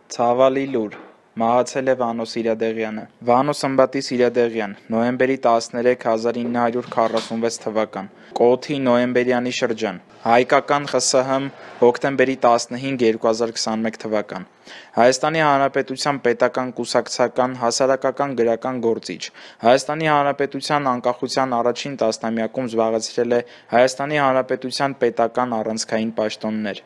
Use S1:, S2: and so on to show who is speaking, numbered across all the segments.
S1: Ցավալի լուր, մահացել է Վանո Սիրադեղյանը։ Վանո Սմբատի Սիրադեղյան, նոյեմբերի 13, 1946 թվական, Կոթի նոյեմբերյանի շրջան, Հայկական ԽՍՀՄ, հոկտեմբերի 15, 2021 թվական, Հայաստանի Հանրապետության պետական կուսակցական, հասարակական գրական գործիչ, Հայաստանի Հանրապետության անկախության առաջին տասնամյակում զբաղեցրել է Հայաստանի Հանրապետության պետական առանցքային պաշտոններ։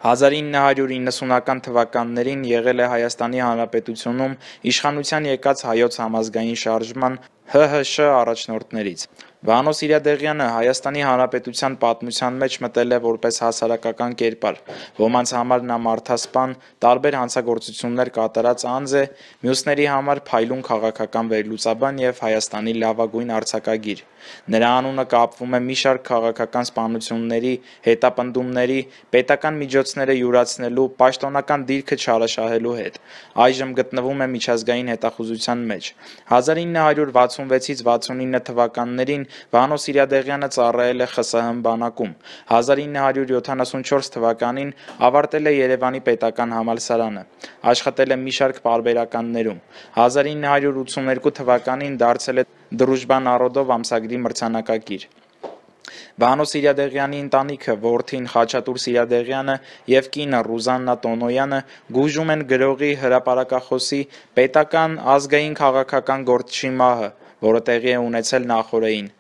S1: 1990-ական թվականներին եղել է Հայաստանի Հանրապետությունում իշխանության եկած Հայոց համազգային շարժման ՀՀՇ առաջնորդներից։ Վանո Սիրադեղյանը Հայաստանի Հանրապետության պատմության մեջ մտել է որպես հասարակական կերպար, ոմանց համար նա մարդասպան, տարբեր հանցագործություններ կատարած անձ է, մյուսների համար փայլուն քաղաքական վերլուծաբան եւ Հայաստանի լավագույն արձակագիր։ Նրա անունը կապվում է մի շարք քաղաքական սպանությունների, հետապնդումների, պետական միջոցները յուրացնելու, պաշտոնական դիրքը չարաշահելու հետ։ Այժմ գտնվում է միջազգային հետախուզության մեջ։ 1966-ից 69 թվականներին Վանո Սիրադեղյանը ծառայել է ԽՍՀՄ բանակում։ 1974 թվականին ավարտել է Երևանի պետական համալսարանը։ Աշխատել է մի շարք պարբերականներում։ 1982 թվականին դարձել է «Դրուժբա նարոդով» ամսագրի մրցանակակիր։ Վանո Սիրադեղյանի ընտանիքը, որդին Խաչատուր Սիրադեղյանը եւ կինը Ռուզաննա Տոնոյանը գուժում են գրողի, հրապարակախոսի, պետական ազգային քաղաքական գործչի մահը, որը տեղի է ունեցել նախօրեին։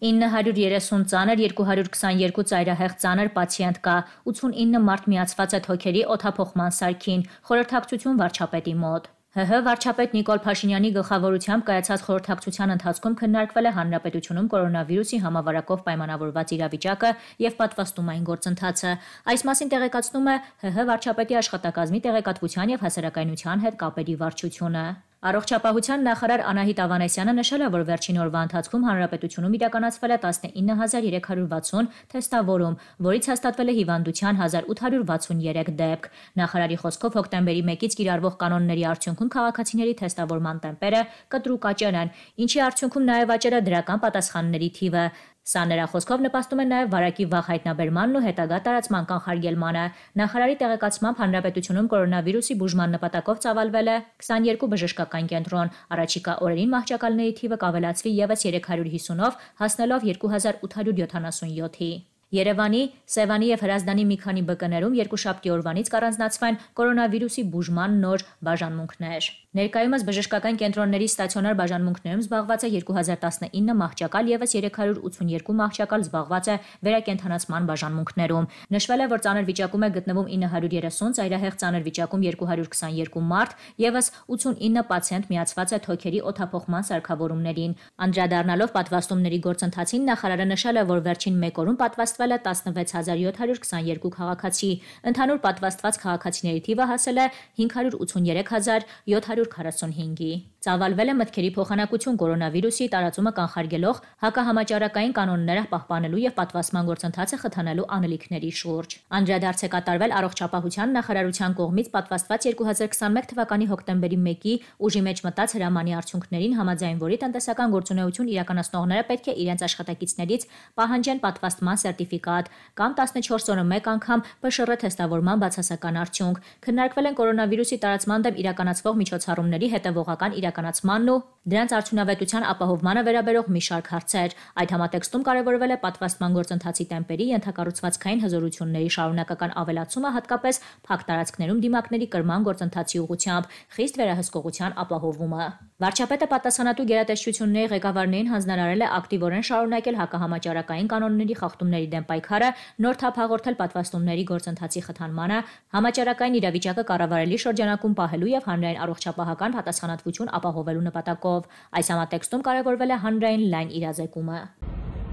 S2: 930 ծանր, 222 ծայրահեղ ծանր պացիենտ կա, 89 մարդ միացված է թոքերի օդափոխման սարքին, խորհրդակցություն վարչապետի մոտ։ ՀՀ վարչապետ Նիկոլ Փաշինյանի գլխավորությամբ կայացած խորհրդակցության ընթացքում քննարկվել է հանրապետությունում կորոնավիրուսի համավարակով պայմանավորված իրավիճակը եւ պատվաստումային գործընթացը։ Այս մասին տեղեկացնում է ՀՀ վարչապետի աշխատակազմի տեղեկատվության եւ հասարակայնության հետ կապերի վարչությունը։ Առողջապահության նախարար Անահիտ Ավանեսյանը նշել է, որ վերջին օրվա ընթացքում հանրապետությունում իրականացվել է 19360 թեստավորում, որից հաստատվել է հիվանդության 1863 դեպք։ Նախարարի խոսքով հոկտեմբերի 1-ից կիրառվող կանոնների արդյունքում քաղաքացիների թեստավորման տեմպերը կտրուկ աճել են, ինչի արդյունքում նաև աճել է դրական պատասխանների թիվը։ Սա նրա խոսքով նպաստում է նաև վարակի վաղ հայտնաբերմանն ու հետագա տարածման կանխարգելմանը։ Նախարարի տեղեկացմամբ հանրապետությունում կորոնավիրուսի բուժման նպատակով ծավալվել է 22 բժշկական կենտրոն։ Առաջիկա օրերին մահճակալների թիվը կավելացվի ևս 350-ով, հասնելով 2877-ի։ Երևանի, Սևանի եւ Հրազդանի մի քանի ԲԿ-ներում երկուշաբթի օրվանից կառանձնացվեն կորոնավիրուսի բուժման նոր բաժանմունքներ։ Ներկայումս բժշկական կենտրոնների ստացիոնար բաժանմունքներում զբաղված է 2019 մահճակալ, ևս 382 մահճակալ զբաղված է վերակենդանացման բաժանմունքներում։ Նշվել է, որ ծանր վիճակում է գտնվում 930, ծայրահեղ ծանր վիճակում 222 մարդ, ևս 89 պացիենտ միացված է թոքերի օդափոխման սարքավորումներին։ Անդրադառնալով պատվաստումների գործընթացին, նախարարը նշել է, որ վերջին մեկ օրում պատվաստվել է 16722 քաղաքացի։ Ընդհանուր պատվաստված քաղաքացիների թիվը հասել է 583745-ի։ Ծավալվել է մտքերի փոխանակություն կորոնավիրուսի տարածումը կանխարգելող հակահամաճարակային կանոնները պահպանելու եւ պատվաստման գործընթացը խթանելու անելիքների շուրջ։ Անդրադարձ է կատարվել առողջապահության նախարարության կողմից պատվաստված 2021 թվականի հոկտեմբերի 1-ի ուժի մեջ մտած հրամանի արդյունքներին, համաձայն որի տնտեսական գործունեություն իրականացնողները պետք է իրենց աշխատակիցներից պահանջեն պատվաստման սերտիֆիկատ կամ 14 օրը մեկ անգամ ՊՇՌ թեստավորման բացասական արդյունք։ Քննարկվել են կորոնավիրուսի տարածման դեմ իրականացվող միջոցառումների հետևողական իրականացմանն ու դրանց արդյունավետության ապահովմանը վերաբերող մի շարք հարցեր։ Այդ համատեքստում կարևորվել է պատվաստման գործընթացի տեմպերի, ենթակառուցվածքային հզորությունների շարունակական ավելացումը, հատկապես փակ տարածքներում դիմակների կրման գործընթացի ուղղությամբ, խիստ վերահսկողության ապահովումը։ Վարչապետը պատասխանատու գերատեսչությունների ղեկավարներին հանձնարարել է ակտիվորեն շարունակել հակահամաճարակային կանոնների խախտումների դեմ պայքարը, նոր թափ հաղորդել պատվաստումների գործընթացի խթանմանը, համաճարակային իրավիճակը կառավարելի շրջանակում պահելու եւ հանրային առողջապահական պատասխանատվություն ապահովելու նպատակով։ Այս համատեքստում կարևորվել է հանրային լայն իրազեկումը։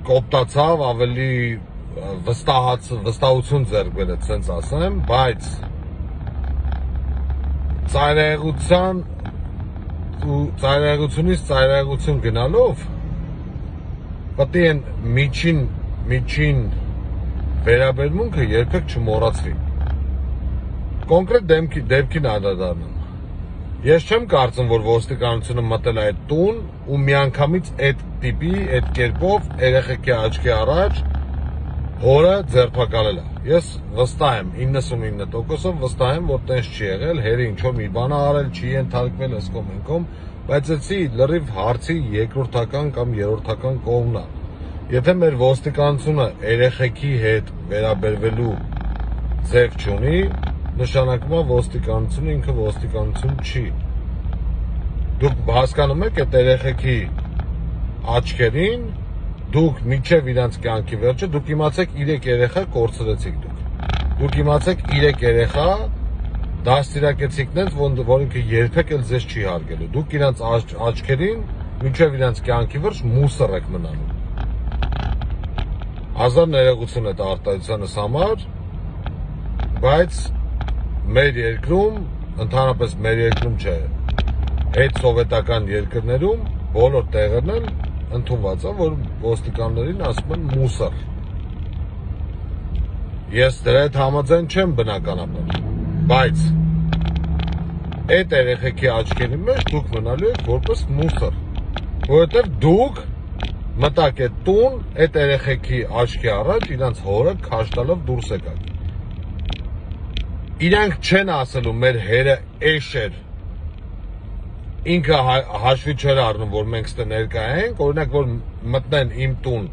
S3: Կոպտացավ, ավելի վստահություն ձեռք բերեց, ասենց ասեմ, բայց ծայրահեղությունից ծայրահեղություն գնալով պետք է միջին վերաբերմունքը երբեք չմոռացվի։ Կոնկրետ դեպքին անդրադառնամ։ Ես չեմ կարծում, որ ոստիկանությունը մտել է այդ տուն ու միանգամից այդ տիպի, այդ կերպով երեխեքի աչքի առաջ հորը ձերբակալել է։ Ես վստահ եմ, 99% վստահ եմ, որ տենց չի եղել, հերը ինչ-որ մի բան ա արել, չի ենթարկվել ըսկոմ ենքոմ, բայց էցի լրիվ հարցի երկրորդական կամ երրորդական կողմն է։ Եթե մեր ոստիկանությունը երեխեքի հետ վերաբերվելու ձև չունի, նշանակում է ոստիկանությունը ինքը ոստիկանություն չի։ Դուք հասկանում եք այդ երեխեքի աչքերին, դուք մինչև իրանց կյանքի վերջը, դուք իմացեք 3 երեխա կորցրեցիք դուք։ Դուք իմացեք 3 երեխա դաստիարակեցիք նենց, որ ինքը երբեք էլ ձեզ չի հարգելու։ Դուք իրանց աչքերին մինչև իրանց կյանքի վերջ մուսր եք մնանում։ Հազար ներողություն այդ արտահայտությանս համար, բայց մեր երկրում, ընդհանրապես մեր երկրում չէ, հետ սովետական երկրներում բոլոր տեղերն էլ ընդունված է, որ ոստիկաններին ասում են մուսր։ Ես դրա հետ համաձայն չեմ բնականաբար, բայց այդ երեխեքի աչքերի մեջ դուք մնալու եք որպես մուսր, որովհետև դուք մտակ այդ տուն, այդ երեխեքի աչքի առաջ իրանց հորը քաշ տալով դուրս եկաք։ Իրանք չեն ասելու մեր հերը էշ էր, ինքը հաշվի չէր առնում, որ մենք ստե ներկա ենք, օրինակ, որ մտնեն իմ տուն,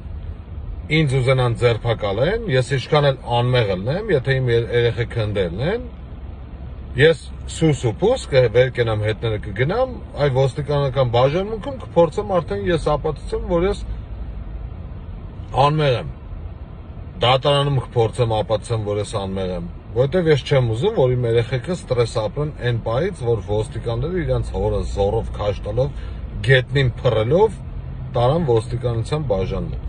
S3: ինձ ուզենան ձերբակալեն, ես ինչքան էլ անմեղ ելնեմ, եթե իմ երեխեքը հնդելն են, ես սուս ու պուս վեր կենամ հետները կգնամ, այ ոստիկանական բաժանմունքում կփորձեմ արդեն ես ապացուցեմ, որ ես անմեղ եմ, դատարանում կփորձեմ ապացուցեմ, որ ես անմեղ եմ, որովհետև ես չեմ ուզում, որ իմ երեխեքը ստրես ապրեն այն պահից, որ ոստիկանները իրենց հորը զորով քաշ տալով, գետնին փռելով տարան ոստիկանության բաժանմունք։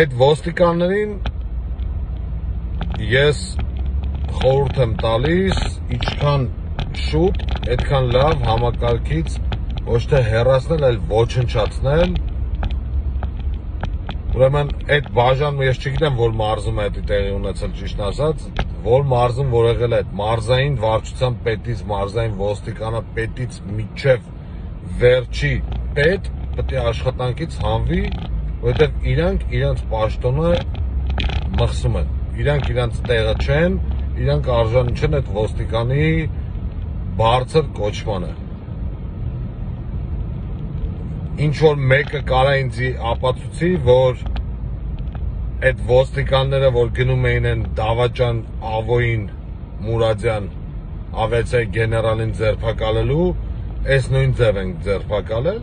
S3: Այդ ոստիկաններին ես խորհուրդ եմ տալիս, ինչքան շուտ, այդքան լավ համակարգից ոչ թե հեռացնել, այլ ոչնչացնել։ Ուրեմն այդ բաժանումը ես չգիտեմ, որ մարզում է դա տեղի ունեցել, ճիշտ ասած, որ մարզում որ եղել է այդ մարզային վարչության պետից, մարզային ոստիկանը պետից միջև վերջի պետ պետք է աշխատանքից հանվի, որովհետև իրանք իրանց պաշտոնը մխսում են, իրանք իրանց տեղը չեն, իրանք արժանի չեն այդ ոստիկանի բարձր կոչմանը։ Ինչ որ մեկը կարա ինձ ապացուցի, որ այդ ոստիկանները, որ գնում էին են Դավաճան Ավոյին Մուրադյան ավիացիայի գեներալին ձերբակալելու, այս նույն ձև են ձերբակալել,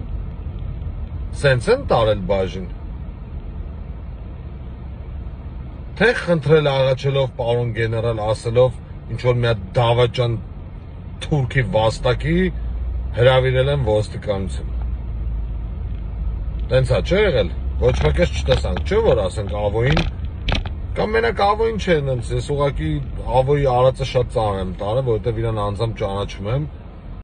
S3: սենց են տարել բաժին։ Թե խնդրել աղաչելով պարոն գեներալ ասելով, ինչ որ մի հատ Դավաճան թուրքի վաստակի հրավիրել են ոստիկանություն։ Տենց է չէ եղել, ոչ մեկ ես չտեսանք, չէ որ ասենք Ավոյին, կամ մենակ Ավոյին չէ, ես ուղղակի Ավոյի արածը շատ ծանր եմ տարել, որովհետև իրան անձամբ ճանաչում եմ,